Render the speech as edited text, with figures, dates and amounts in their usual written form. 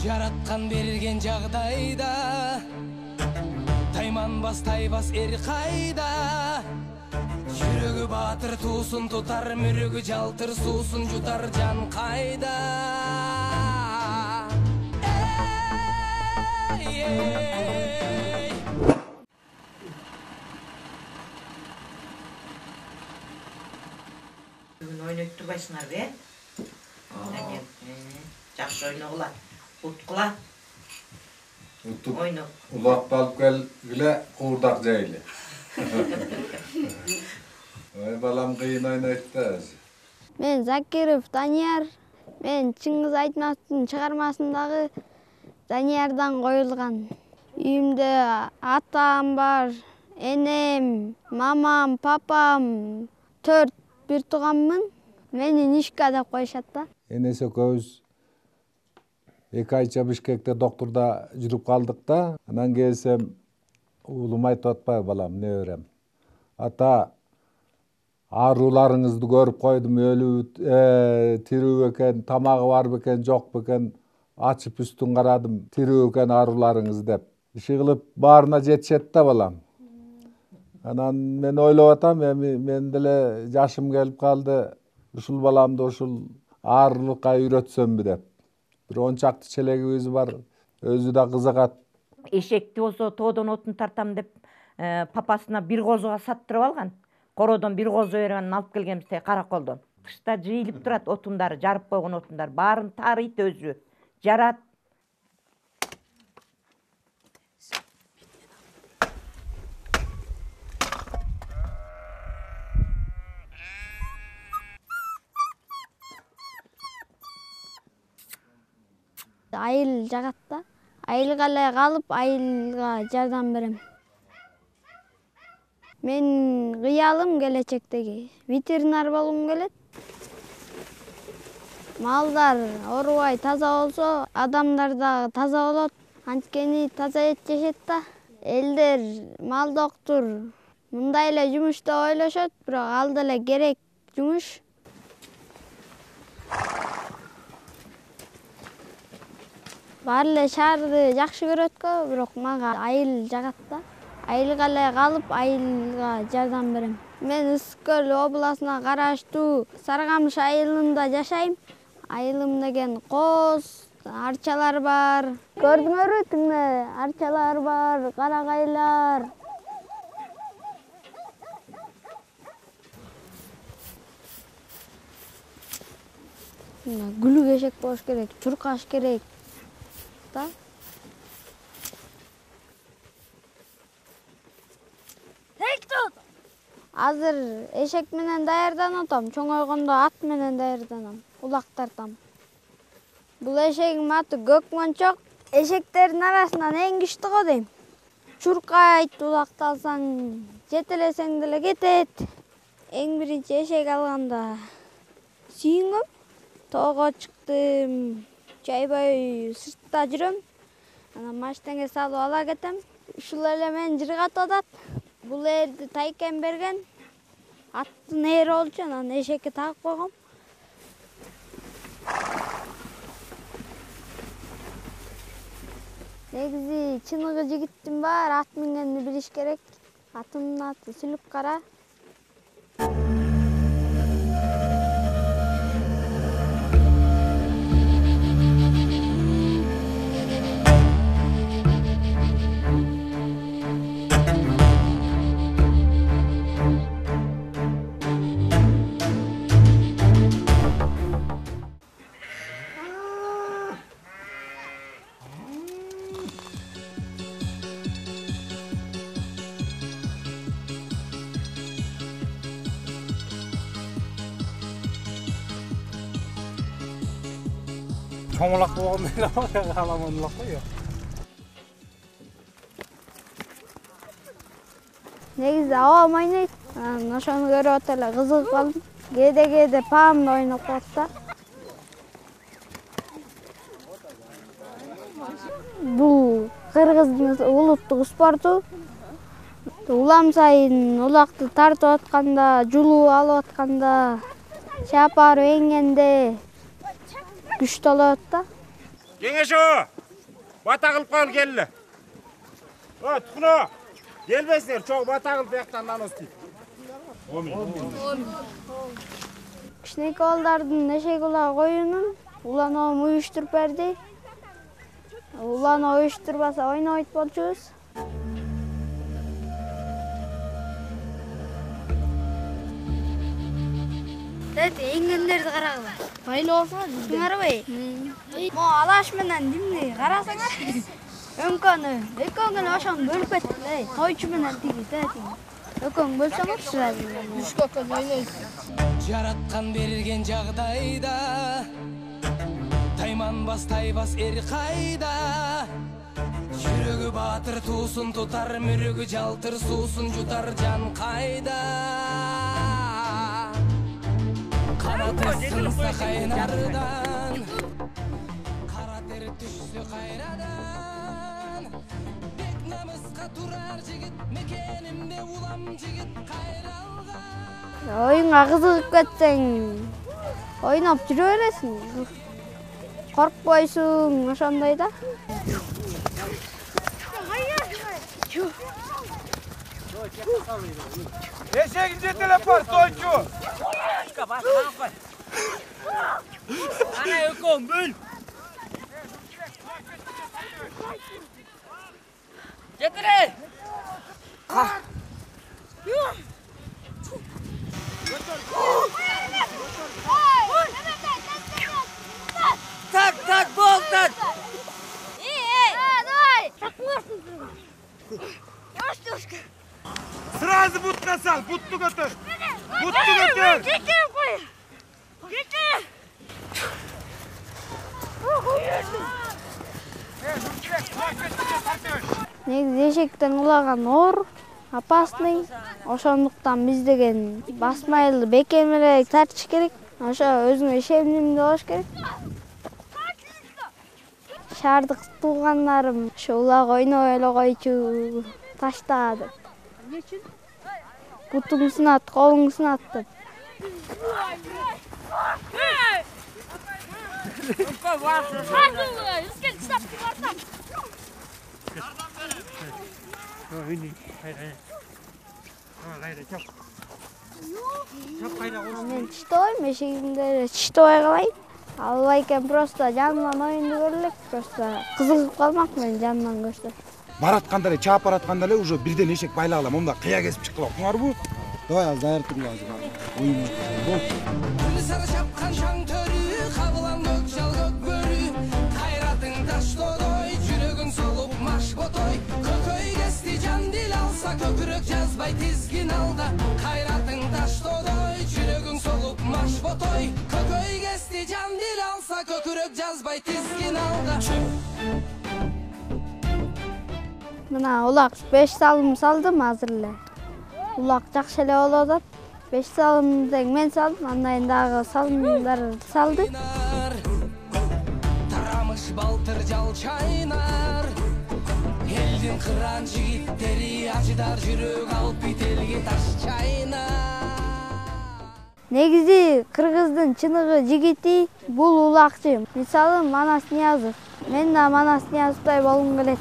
Жараткан берген жагдайда тайманбас тайбас эр кайда. Жүрөгү баатыр туусун тутар, мүрөгү жалтыр суусун жутар жан кайда. Бүгүн ойноп турбайсыңарбы, жакшы ойногула, уткула. Утуп улакты алып келгиле, куурдак жайлы. Ой, балам кыйын ойнойт да. Мен Закиров Данияр. Мен Чыңгыз Айтматовдун чыгармасындагы Даниярдан коюлган. Үйүмдө атам бар, энем, мамам, папам, 4 бир тууганмын. Мени Нишка деп коюшат да. Энеси экөөбүз 2 айча Бишкекте доктурда жүрүп калдык да. Анан келсем, уулум айтып атпайбы, балам, неберем. Ата, ааруларыңызды көрүп койдум, өлүү, тирүү экен, тамагы бар бекен, жок бекен, ачып үстүн карадым, тирүү экен ааруларыңыз деп. Иши кылып баарына жетишет да, балам. Анан мен ойлоп атам, эми мен деле жашым келип калды, ушул баламды ушул аарулукка үйрөтсөмбү деп. Бир 10 чакты челегибиз бар, өзү да кызыгат. Эшекти болсо тоодон отун тартам деп папасына бир козуга саттырып алган. Кородон бир козу берип анан алып келгенбизде караколдон. Кышта жыйылып турат отундары, жарып койгон отундар, баарын таарыйт өзү, жарат. Айыл жагат да. Айылга эле калып, айылга жардам берем. Мен кыялым келечектеги ветеринар болгум келет. Малдар оорубай таза болсо, адамдар да таза болот. Анткени таза эт жешет да. Элдер мал доктур мындай эле жумуш деп ойлошот, бирок ал деле керек жумуш. Баары эле шаарды жакшы көрөт-кө, бирок мага айыл жагат да. Айылга эле калып, айылга жардам берем. Мен Ысык көл областына караштуу Сарыкамыш айылында жашайм. Айылым деген коз, арчалар бар. Көрдүңөрбү, тиңде арчалар бар, карагайлар. Гүлүк эшек болуш керек, чуркаш керек да. Азыр эшек менен даярданып атам, чоңойгондо ат менен даярданам, улак тартам. Бул эшегим аты Көкмөнчөк. Эшектердин арасынан эң күчтүү го дейм. Чуркайт, улакты алсаң, жетелесең деле кетет. Эң биринчи эшек алганда сүйүнгөм. Тоого чыктым, чайбай сыртта жүрөм. Анан машинеге салып ала кетем. Ушул эле мен жыргатып атат. Бул эрди тайкем берген. Аттын эри болчу, анан эшекке тагып койгом. Негизи чыныгы жигиттин баары ат мингенди билиш керек. Атымдын аты Сүлүк Кара. Чоңулак болгондо эле каламан улак го. Негизи абам ойнойт. Ошону көрүп атып эле кызыгып калдым. Кээде паам да ойноп коет да. Бул кыргыздын улуттук спорту. Улам сайын улакты тартып атканда, жулуп алып атканда, чапар эңгенде күчтүү болот да. Кеңешо. Бата кылып коел келли. Тукуно. Келбесиңер, чоң бата кылып бияктан нанос дейт. Кичинекей балдардын эшек улаа коюнун уланууну уюштуруп берди. Улануу уюштурбаса ойнобойт болчубуз. Эңгендерди карагыла. Байлоо болсоңор, туңарбай. Могу алаш менен димди карасаңар. Өңкөнү, экөөңүн ошону бөлүп кеттиле. Тойчу менен тиги, экөөң бөлсөңөр сразу. Үшкөккө ойнойсуз. Жараткан берген жагдайда тайманбас тайбас эр кайда. Жүрөгү баатыр туусун тутар, мүрөгү жалтыр суусун жутар жан кайда. Канаты сынса кайнардан, кара тер түшсө кайрадан. Бек намыска турар жигит, мекенимде улам жигит кайралган. Оюнга кызыгып кетсең, ойноп жүрө бересиң. Коркпойсуң, ошондой да. Эшегин жетелеп бар, тойчу. Ана экөөң бөл. Жетире. Так, болтат. Давай. Сразу бутка сал, бутту көтөр. Бутту көтөр. Негизи эшектен улаган оор, опасный. Ошондуктан биз деген басмайлы бекемирээк тартыш керек. Ошо өзүңө ишенимдүү болуш керек. Шаардык туугандарым ошо улак ойнобой эле койчу, ташта деп. Эмне үчүн? Бутуң сынат, колуң сынат деп. Мен чыштабайм, эшегимде чыштабай калайын. Албай экен, просто жанынан оюнду көрө элек, просто кызыгып калмак мен жанынан көрсөм. Баратканда эле, чаап баратканда эле уже бирден эшек байлагыла, момда кыя кесип чыккыла. Туңарбы? Давай азыр даяртып азыр. Оюн. Күн сары чапкан шаң төрү, кабылан көк жал көк бөрү. Кайратың таштодой, жүрөгүң солуп маш ботой. Көкөй кести жан дил алса, көкүрөк жазбай тизгин алда. Кайратың таштодой, жүрөгүң солуп маш ботой. Көкөй кести жан дил алса, көкүрөк жазбай тизгин алда. Мына улак 5 салым салдым азыр эле. Улак жакшы эле болуп атат. 5 салым тең мен салдым, андан дагы салымдар салды. Тарамыш балтыр жал чайнар. Элдин кыран жигиттери ажыдар жүрөк алып бителге таш чайнар. Негизи кыргыздын чыныгы жигити бул улакчы. Мисалы Манас Ниязов. Мен да Манас Ниязовдой болгум келет.